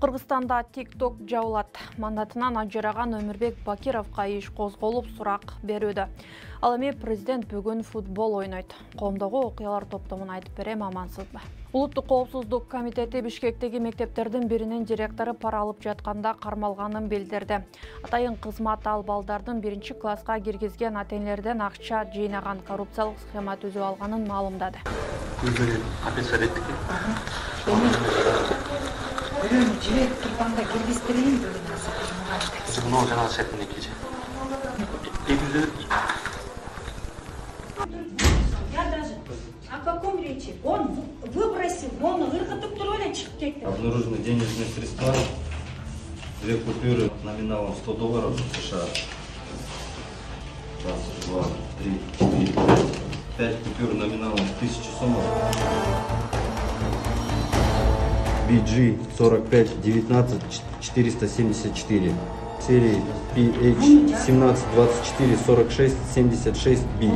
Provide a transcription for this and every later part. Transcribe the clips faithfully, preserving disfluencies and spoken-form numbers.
Кыргызстанда TikTok жабылат. Мандатынан ажыраган Өмүрбек Бакировго иш козголуп сурак берүүдө. Ал эми президент бүгүн футбол ойнойт. Коомдогу окуялар топтомун айтып берем, амансызбы? Улуттук коопсуздук комитети Бишкектеги мектептердин биринин директору пара алып жатканда кармалганын билдирди. Атайын кызмат ал балдардын биринчи класска киргизген ата-энелерден акча жыйнаган, коррупциялык схема түзүп алганын маалымдады. Бөлөмү жиберип турганда киргиздирейин деген нерсе. Мына жана сетине кече. Я даже о каком речи? Он выбросил, он выркотуп туруп эле чыгып кетти. Обнаружены денежные средства, две купюры номиналом сто долларов США. Раз, два, три, четыре, пять. Пять купюр номиналом тысячу сомов. би джи сорок пять девятнадцать четыреста семьдесят четыре, серии пи эйч семнадцать двадцать четыре сорок шесть семьдесят шесть би.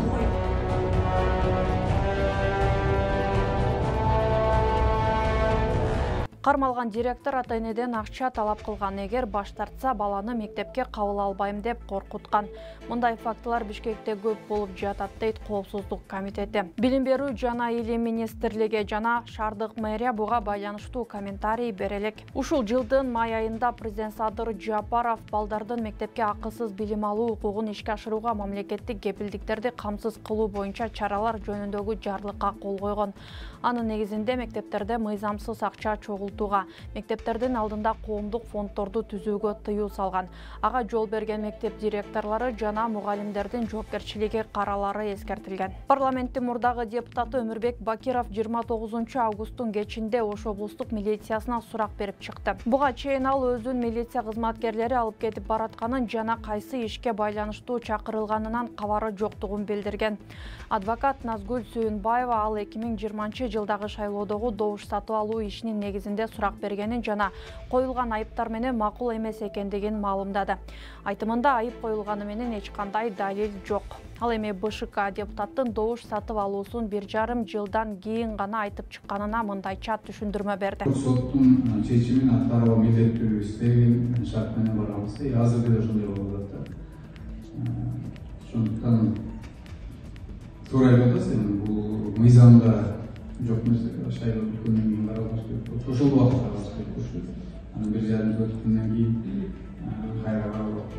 Кармалган директор ата-энеден акча талап кылган, эгер баш тартса баланы мектепке кабыл албайм деп коркуткан. Мындай фактылар Бишкекте көп болуп жатат, дейт Коопсуздук комитети. Билим берүү жана илим министрлиги жана шаардык мэрия буга байланыштуу комментарий бере элек. Ушул жылдын май айында президент Садыр Жапаров балдардын мектепке акысыз билим алуу укугун ишке ашырууга мамлекеттик кепилдиктерди камсыз кылуу боюнча чаралар жөнүндөгү жарлыкка кол койгон. Анын негизинде мектептерде мыйзамсыз акча чогултууга, мектептердин алдында коомдук фонддорду түзүүгө тыюу салган. Ага жол берген мектеп директорлору жана мугалимдердин жоопкерчилиги каралары эскертилген. Парламенттин мурдагы депутаты Өмүрбек Бакиров жыйырма тогузунчу августтун кечинде Ош облустук милициясына сурак берип чыкты. Буга чейин ал өзүн милиция кызматкерлери алып кетип баратканын жана кайсы ишке байланыштуу чакырылганынан кабары жоктугун билдирген. Адвокат Назгүл Сүйүнбаева ал эки миң жыйырманчы жылдагы шайлоодогу добуш сатып алуу ишинин негизинде сурак бергенин жана коюлган айыптар менен макул эмес экендигин маалымдады. Айтымында айып коюлганы менен эч кандай далил жок. Ал эми БШК депутаттын добуш сатып алуусун бир жарым жылдан кийин гана айтып чыкканына мындайча түшүндүрмө берди. Соттун чечимин аткарууга милдеттүүбүз деген шарт менен барабыз. Азыр деле ошондой болуп атат. Ошондуктан туура айтып атасыз, бул мыйзамда жок нерсе, шайлоо бүткөндөн кийин каралыш керек. Ошол убакытта каралыш керек. Анан бир жарым жыл өткөндөн кийин кайра каралып,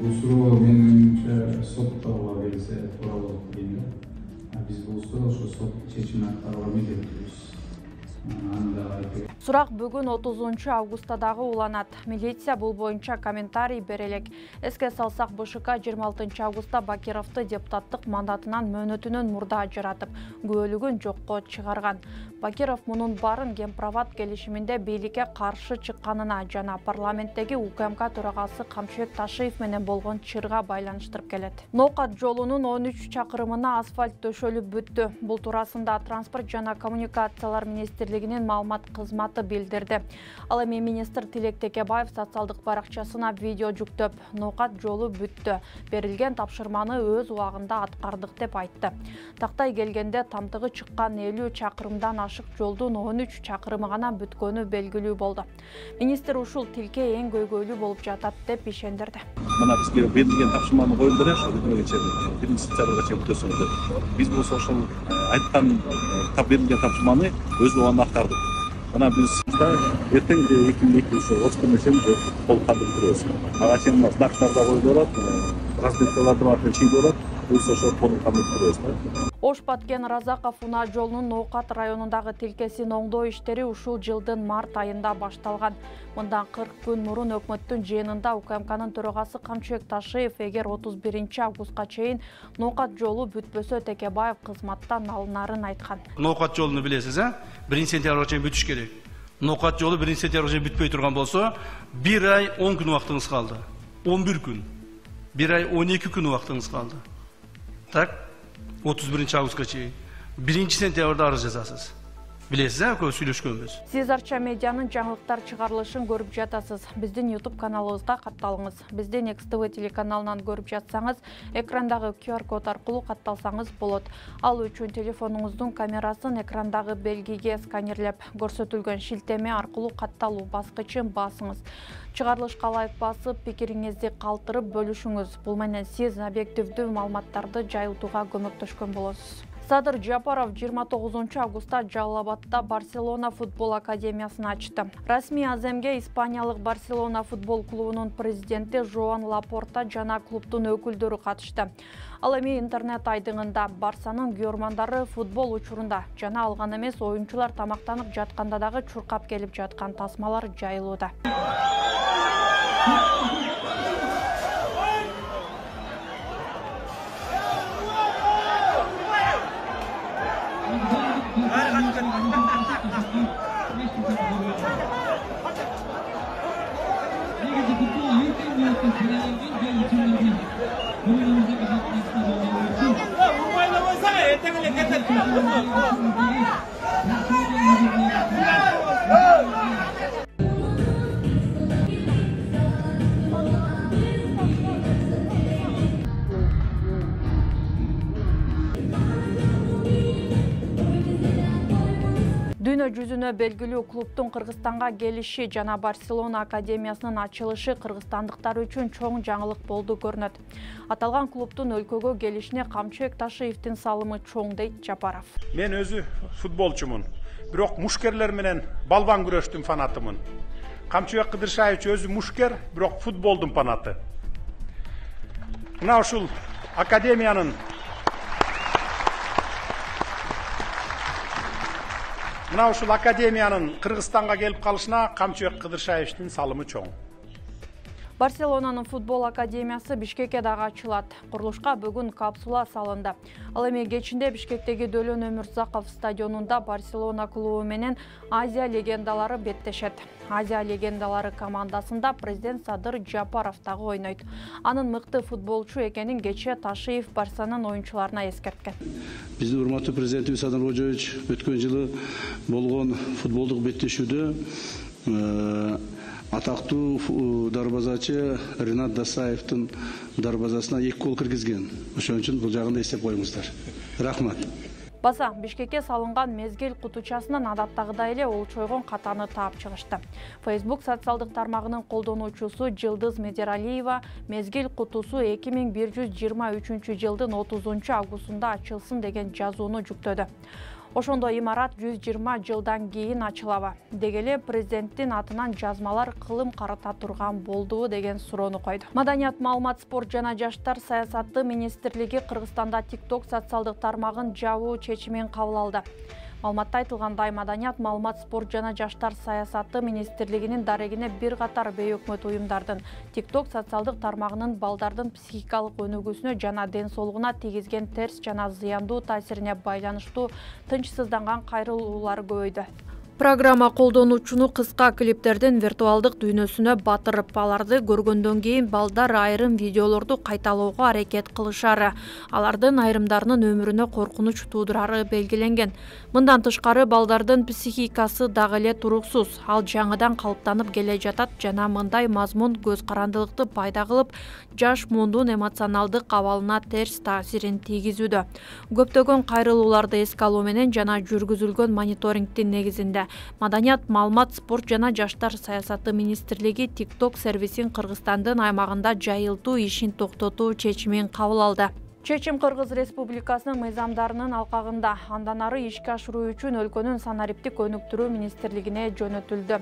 бул суроо менимче соттогула келсе туура болот дейм да. Биз болсо ошо сот чечимин аткарууга милдеттүүбүз. Сурак бүгүн отузунчу августта дагы уланат. Милиция бул боюнча комментарий бере элек. Эске салсак, БШК жыйырма алтынчы августта Бакировду депутаттык мандатынан мөөнөтүнөн мурда ажыратып, күбөлүгүн жокко чыгарган. Бакиров мунун баарын Гемпроват келишиминде бийликке каршы чыкканына жана парламенттеги УКМК төрагасы Камчыбек Ташиев менен болгон чырга байланыштырып келет. Ноокат жолунун он үч чакырымына асфальт төшөлүп бүттү. Бул туурасында транспорт жана коммуникациялар министрлигинин маалымат кызматы билдирди. Ал эми министр Тилек Текебаев социалдык баракчасына видео жүктөп, ноокат жолу бүттү, берилген тапшырманы өз убагында аткардык деп айтты. Тактай келгенде тамтыгы чыккан элүү чакырымдан ашык жолдун он үч чакырымы гана бүткөнү белгилүү болду. Министр ушул тилке эң көйгөйлүү болуп жатат деп ишендирди. Мына бизге берилген тапшырманы коюлдур, ошо бүтмөгөнчө биринчи сентябрга чейин бүтөсүң деп. Биз болсо ошол айткан берилген тапшырманы өз убагында аткардык. Мына биз эртең эки миң эки жүз отуз күнү чейин толук кандырып турабыз. Ага чейин знактар да коюлуп атат, разметкаларды артынан чийип атат. Биз ошо толук кандырып турабыз. Ош Баткен Разаков Уна жолунун Ноокат районундагы тилкесин оңдоо иштери ушул жылдын март айында башталган. Мындан кырк күн мурун өкмөттүн жыйынында УКМКнын төрагасы Камчыбек Ташиев эгер отуз биринчи августка чейин Ноокат жолу бүтпөсө Текебаев кызматтан алынарын айткан. Ноокат жолуну билесиз, а? биринчи сентябрга чейин бүтүш керек. Ноокат жолу биринчи сентябрга чейин бүтпөй турган болсо, бир ай он күн убактыңыз калды. он бир күн. бир ай он эки күн убактыңыз калды. Так? отуз биринчи августка чейин. биринчи сентябрда арыз жазасыз. Билесиз, экөө сүйлөшкөнбүз. Сиз Арча медианын жаңылыктар чыгарылышын көрүп жатасыз. Биздин YouTube каналыбызга катталыңыз. Биздин Экс Тэ Вэ телеканалынан көрүп жатсаңыз, экрандагы Q R код аркылуу катталсаңыз болот. Ал үчүн телефонуңуздун камерасын экрандагы белгиге сканерлеп, көрсөтүлгөн шилтеме аркылуу катталуу баскычын басыңыз. Чыгарылышка ылайык басып, пикириңизди калтырып бөлүшүңүз. Бул менен сиз объективдүү маалыматтарды жайылтууга көмөктөшкөн болосуз. Садыр Жапаров жыйырма тогузунчу августта Жаллабадда Барселона футбол академиясын ачты. Расмий аземге испаниялык Барселона футбол клубунун президенти Жоан Лапорта жана клубдун өкүлдөрү катышты. Ал эми интернет айдыңында Барсанын күйөрмандары футбол учурунда жана алган эмес, оюнчулар тамактанып жатканда дагы чуркап келип жаткан тасмалар жайылууда. Дүйнө жүзүнө белгилүү клубдун Кыргызстанга келиши жана Барселона академиясынын ачылышы кыргызстандыктар үчүн чоң жаңылык болду көрүнөт. Аталган клубдун өлкөгө келишине Камчыбек Ташиевдин салымы чоң дейт Жапаров. Мен өзү футболчумун, бирок мушкерлер менен балбан күрөштүн фанатымын. Камчыбек Кыдыршаевич өзү мушкер, бирок футболдун фанаты. Мына ушул академиянын Мына ушул академиянын Кыргызстанга келип калышына Камчыбек Кыдыршаевичтин салымы чоң. Барселонанын футбол академиясы Бишкекке дагы ачылат. Курулушка бүгүн капсула салынды. Ал эми кечинде Бишкектеги Дөлөн Өмүрзаков стадионунда Барселона клубу менен Азия легендалары беттешет. Азия легендалары командасында президент Садыр Жапаров дагы ойнойт. Анын мыкты футболчу экенин кечээ Ташиев Барсанын оюнчуларына эскерткен. Биздин урматтуу президентибиз Садыр Кожоевич өткөн жылы болгон футболдук беттешүүдө атактуу дарбазачы Ринат Дасаевдин дарбазасына эки гол киргизген. Ошон үчүн бул жагында эстеп коюңуздар. Рахмат. Баса Бишкекке салынган мезгил кутучасынан адаттагыдай эле олчойгон катаны таап чыгышты. Facebook социалдык тармагынын колдонуучусу Жылдыз Медералиева мезгил кутусу эки миң бир жүз жыйырма үчүнчү жылдын отузунчу августунда ачылсын деген жазууну жүктөдү. Ошондо имарат жүз жыйырма жылдан кийин ачылабы? Дегеле президенттин атынан жазмалар кылым карата турган болдубу деген суроону койду. Маданият, маалымат, спорт жана жаштар саясаты министрлиги Кыргызстанда TikTok социалдык тармагын жабуу чечимин кабыл алды. Маалыматта айтылгандай, Маданият, маалымат, спорт жана жаштар саясаты министрлигинин дарегине бир катар бейөкмөт уюмдардын TikTok социалдык тармагынын балдардын психикалык өнүгүүсүнө жана ден соолугуна тийгизген терс жана зыяндуу таасирине байланыштуу тынчсызданган кайрылуулары көбөйдү. Программа колдонуучуну кыска клиптердин виртуалдык дүйнөсүнө батырып, аларды көргөндөн кийин балдар айрым видеолорду кайталоого аракет кылышары, алардын айрымдарынын өмүрүнө коркунуч туудурары белгиленген. Мындан тышкары балдардын психикасы дагы эле туруксуз, ал жаңыдан калыптанып келе жатат жана мындай мазмун көз карандылыкты пайда кылып, жаш муундун эмоционалдык абалына терс таасирин тийгизүүдө. Көптөгөн кайрылууларды эске алуу менен жана жүргүзүлгөн мониторингдин негизинде Маданият, маалымат, спорт жана жаштар саясаты министрлиги TikTok сервисин Кыргызстандын аймагында жайылтуу ишин токтотуу чечимин кабыл алды. Чечим Кыргыз Республикасынын мыйзамдарынын алкагында, андан ары ишке ашыруу үчүн өлкөнүн санариптик өнүктүрүү министрлигине жөнөтүлдү.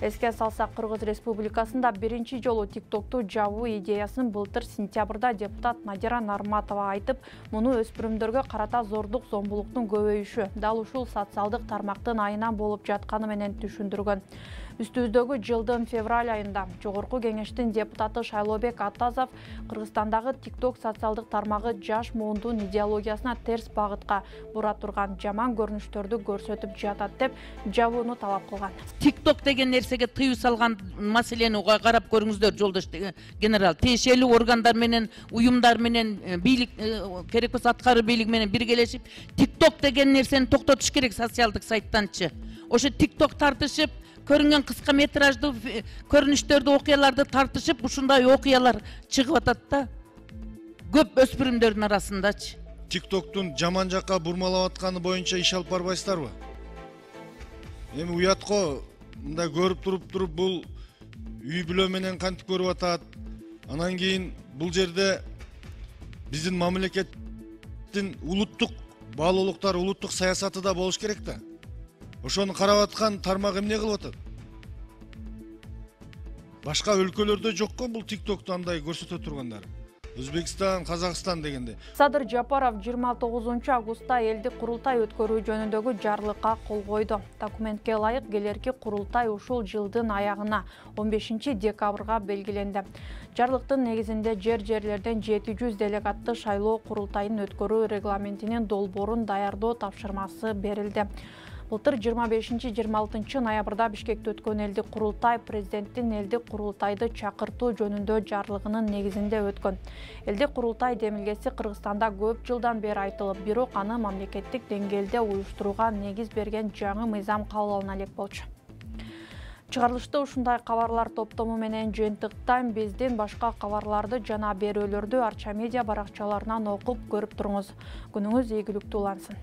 Эске салсак, Кыргыз Республикасында биринчи жолу TikToкту жабуу идеясын былтыр сентябрда депутат Надира Нарматова айтып, муну өспүрүмдөргө карата зордук зомбулуктун көбөйүшү, дал ушул социалдык тармактын айынан болуп жатканы менен түшүндүргөн. Үстүбүздөгү жылдын февраль айында Жогорку Кеңештин депутаты Шайлообек Атазов Кыргызстандагы TikTok социалдык тармагы жаш муундун идеологиясына терс багытка бура турган жаман көрүнүштөрдү көрсөтүп жатат деп жабууну талап кылган. TikTok деген нерсеге тыюу салган маселени карап көрүңүздөр, жолдош генерал. Тиешелүү органдар менен, уюмдар менен, бийлик керек болсо аткаруу бийлиги менен биргелешип TikTok деген нерсени токтотуш керек социалдык сайттанчы. Ошо TikTok тартышып, көрүнгөн кыска метраждуу көрүнүштөрдү, окуяларды тартышып, ушундай окуялар чыгып атат да. Көп өспүрүмдөрдүн арасындачы. TikToктун жаман жакка бурмалап атканы боюнча иш алып барбайсыздарбы? Эми уятко мындай көрүп туруп туруп бул үй бүлө менен кантип көрүп атат. Анан кийин бул жерде биздин мамлекеттин улуттук баалуулуктар, улуттук саясаты да болуш керек да. Ошону карап аткан тармак эмне кылып атат? Башка өлкөлөрдө жокко бул TikToкту андай көрсөтө тургандар. Өзбекстан, Казакстан дегенде. Садыр Жапаров жыйырма тогузунчу августта элдик курултай өткөрүү жөнүндөгү жарлыкка кол койду. Документке ылайык келерки курултай ушул жылдын аягына он бешинчи декабрга белгиленди. Жарлыктын негизинде жер-жерлерден жети жүз делегатты шайлоо курултайын өткөрүү регламентинин долбоорун даярдоо тапшырмасы берилди. Былтыр жыйырма бешинчи жыйырма алтынчы ноябрда Бишкекте өткөн элдик курултай президенттин элдик курултайды чакыртуу жөнүндө жарлыгынын негизинде өткөн. Элдик курултай демилгеси Кыргызстанда көп жылдан бери айтылып, бирок аны мамлекеттик деңгээлде уюштурууга негиз берген жаңы мыйзам кабыл алына элек болчу. Чыгарылышта ушундай кабарлар топтому менен жыйынтыктан биздин башка кабарларды жана берүүлөрдү Арча медиа баракчаларынан окуп көрүп туруңуз. Күнүңүз ийгиликтүү улансын.